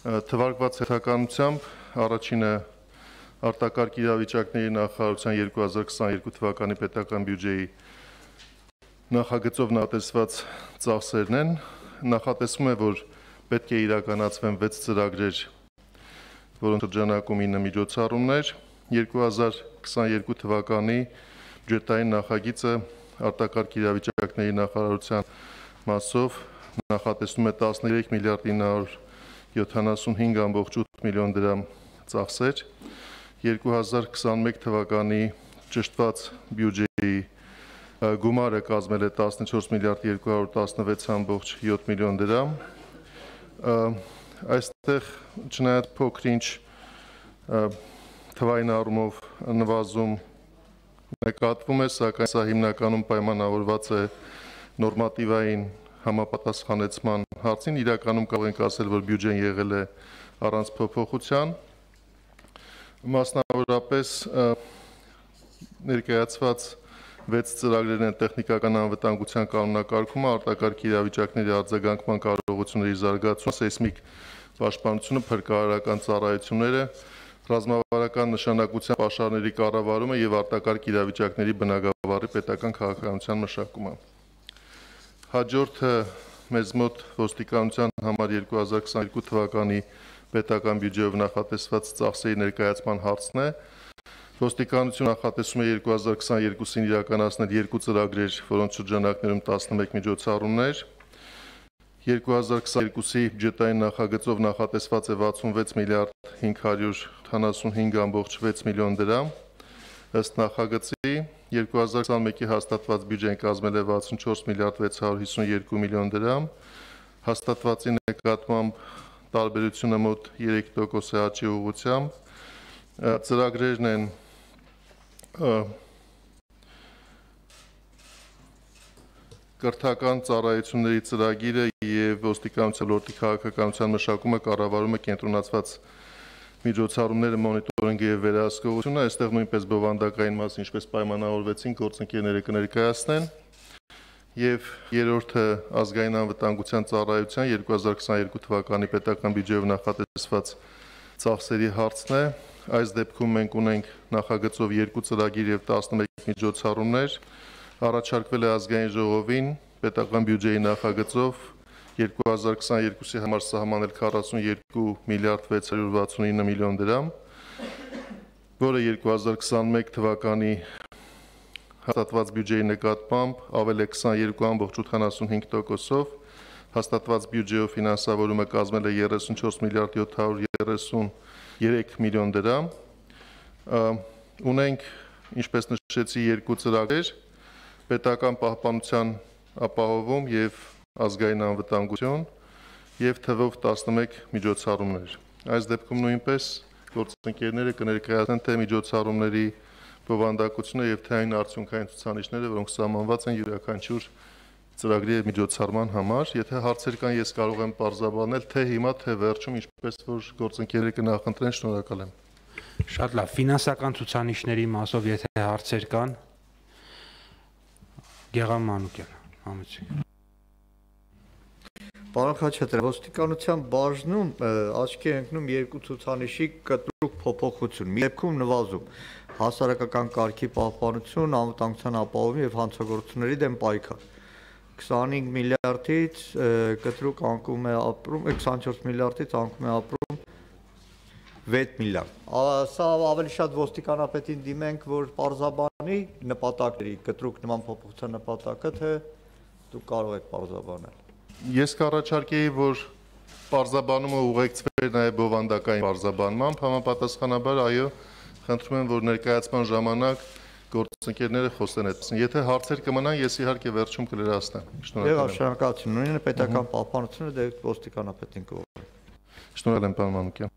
Թվարկված հերթականությամբ առաջինը արտակարգ իրավիճակների նախարարության 2022 թվականի պետական բյուջեի նախագծով նախատեսված ծախսերն են, նախատեսվում է, որ պետք է իրականացվեն 6 ծրագրեր, որոնց շրջանակում 9 միջոցառումներ, 2022 թվականի բյուջետային նախագիծը արտակարգ իրավիճակների նախարարության մասով նախատեսվում է 13 միլիարդ 975,8 միլիոն դրամ ծախսեր, 2021 թվականի ճշտված բյուջեի գումարը կազմել է 14 միլիարդ 216,7 միլիոն դրամ, այստեղ չնայած փոքր-ինչ թվային առումով նվազում նկատվում է, սակայն սա հիմնականում պայմանավորված է նորմատիվային համապատասխանեցման հարցին, իրականում կարող ենք ասել, որ բյուջեն եղել է առանց փոփոխության, մասնավորապես ներկայացված 6 ծրագրեր են տեխնիկական անվտանգության կանոնակարգումը, արտակարգ իրավիճակների արձագանքման կարողությունների զարգացումը, սեյսմիկ պաշտպանությունը, փրկարարական ծառայությունները, ռազմավարական նշանակության պաշարների կառավարումը եւ արտակարգ իրավիճակների բնագավառի պետական քաղաքականության մշակումը։ Հաջորդը մեզ մոտ ոստիկանության համար 2022 թվականի պետական բյուջեով նախատեսված ծախսերի ներկայացման հարցն է։ Ոստիկանությունը նախատեսում է 2022-ին իրականացնել 2 ծրագրեր, որոնց շրջանակներում 11 միջոցառումներ, 2022-ի բյուջետային նախագծով նախատեսված է 66 միլիարդ 575,6 միլիոն դրամ, ըստ նախագծի 2021-ի հաստատված բյուջեն կազմել է 64 միլիարդ 652 միլիոն դրամ, հաստատվածի նկատմամբ տարբերությունը մոտ 3% աճի ուղղությամբ, ծրագրերն են կրթական ծառայությունների ծրագիրը եւ ոստիկանության ոլորտի քաղաքականության մշակումը, կառավարումը, կենտրոնացված միջոցառումները, մոնիտորինգը եւ վերահսկողությունը, այստեղ նույնպես բովանդակային մաս, ինչպես պայմանավորվեցին, գործընկերները կներկայացնեն եւ երրորդը ազգային անվտանգության ծառայության 2022 թվականի պետական բյուջեով նախատեսված ծախսերի հարցն է։ Այս դեպքում մենք ունենք նախագծով 2 ծրագիր եւ 11 միջոցառումներ, առաջարկվել է ազգային ժողովին պետական բյուջեի նախագծով 2022-ի համար սահմանել 42 միլիարդ 669 միլիոն դրամ, որը 2021 թվականի հաստատված բյուջեի նկատմամբ ավել է 22,85%-ով, հաստատված բյուջեով ֆինանսավորումը կազմել է 34 միլիարդ 733 միլիոն դրամ, ունենք, ինչպես նշեցի, 2 ծրագրեր, պետական պահպանության ապահովում եւ ազգային անվտանգություն եւ թվով 11 միջոցառումներ։ Այս դեպքում նույնպես գործընկերները կներկայացնեն թե միջոցառումների բովանդակությունը եւ թե այն արդյունքային ցուցանիշները, որոնք սահմանված են յուրաքանչյուր ծրագրի եւ միջոցառման համար, եթե հարցեր կան, ես կարող եմ պարզաբանել թե հիմա, թե վերջում, ինչպես որ գործընկերները կնախընտրեն, շնորհակալ եմ։ Շատ լավ, ֆինանսական ցուցանիշների մասով եթե հարցեր կան, Գեղամ Մանուկյան, համեցեք։ Պարոն Խաչատրյան, ոստիկանության բաժնում աչքի է ընկնում 2 ցուցանիշի կտրուկ փոփոխություն, մի դեպքում նվազում, հասարակական կարգի պահպանություն, անվտանգության ապահովում եւ հանցագործությունների դեմ պայքար։ 25 միլիարդից կտրուկ անկում է ապրում, 24 միլիարդից անկում է ապրում 6 միլիարդ։ Սա ավելի շատ ոստիկանապետին դիմենք, որ պարզաբանի նպատակների, կտրուկ նման փոփոխության նպատակը, թե դուք կարող եք պարզաբանել։ Ես կառաջարկեի, որ պարզաբանումը ուղեկցվեր նաև բովանդակային պարզաբանմամբ, համապատասխանաբար այո, խնդրում եմ, որ ներկայացման ժամանակ գործընկերները խոսեն այդպես։ Եթե հարցեր կմնան, ես իհարկե վերջում կլրացնեմ։ Շնորհակալություն։ Նույնը պետական պահպանությունը դե ոստիկանապետին կողմից։ Շնորհակալ եմ, պարոն Մանուկյան։